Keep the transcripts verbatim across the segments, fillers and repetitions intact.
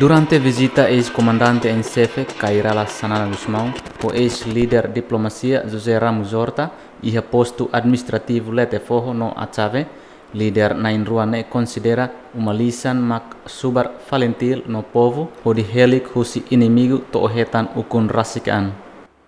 Durante vizita eis-komandante en xefe Kay Rala Xanana Gusmão ho eis-líder diplomasia José Ramos Horta iha postu administrativu Letefoho no Atxave, líder na'in-rua ne'e konsidera uma lisan mak subar FALINTIL no povu hodi helik husi inimigu to'o hetan ukun rasik an.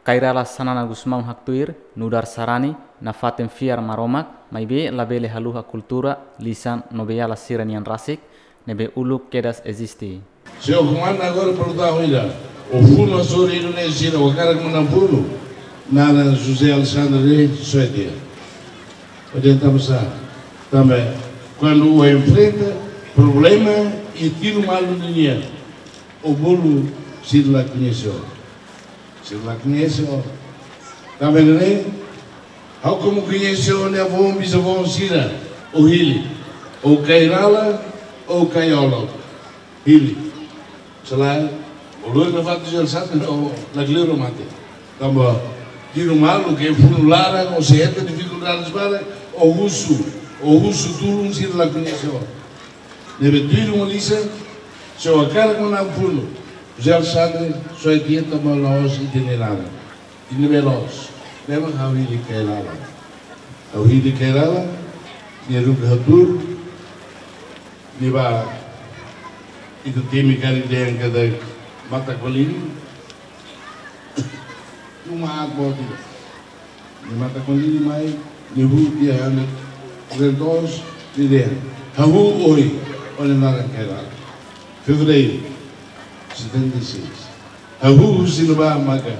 Kay Rala Xanana Gusmão haktuir, nu'udar sarani nafatin fiar Maromak, maibé labele haluha kultura, lisan no beiala sira-nian rasik, ne'ebé uluk kedas eziste. Señór Komandante, agora pergunta oida, o funu hasoru ida-ne'e sira, o hakarak manán funu, naran José Alexandre Soetia. Ojen tanba sá? Tanba kuandu o enfrenta problema i tiru malu ninian, o bolu sira la koñese o. Sira la koñese o. Tanba ne'e, ha'u komu koñese o-nia avó, bisavó sira, o hili. O Kay Rala, o Kay Olok. Hili. Selae, o lori nafatin José Alexandre, o la kleur o mate. Tanba tiru malu, ke funu laran, o sei hetan difikuldades barak, o husu, o husu tulun sira la koñese o. Ne'ebé tuir uma lisan, se o hakarak manán funu, José Alexandre Soetia, tanba la'ós ita-nia naran. Ita-nia be loos, ne'e mak ha'u hili Kay Rala. Ha'u hili Kay Rala, nia haruka hatuur, nia bá, ita temi karik dehan katak matak-baliri, uma aat boot ida. Nia matak-baliri mai, nia husu tiha hanesan rentos, nia dehan: Ha'u hahú ohin, o-nia naran Kay Rala. Fevereiru, setenta e seis. Ha'u husu ne'ebá maka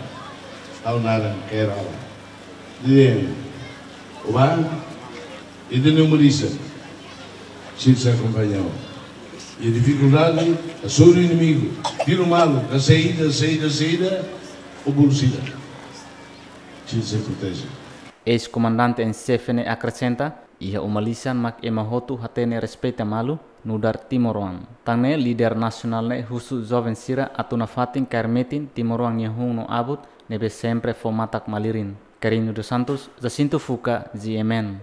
ha'u naran Kay Rala. Nia dehan: O bá, ita-nia uma lisan, sira sei akompaña o. I difikuldade, hasoru inimigu, tiru malu, ka saida, saida, saida, o bolu sira. Sira sei proteje. Eis-komandante en xefe ne'e akresenta, iha uma lisan mak ema hotu hatene respeita malu, nu'udar timoroan. Tan ne'e líder nasionál ne'e husu joven sira atu nafatin kaer metin timoroan nia hun no abut, ne'ebé sempre fó matak-malirin. Carino dos Santos, Jacinto Fuca, G M N.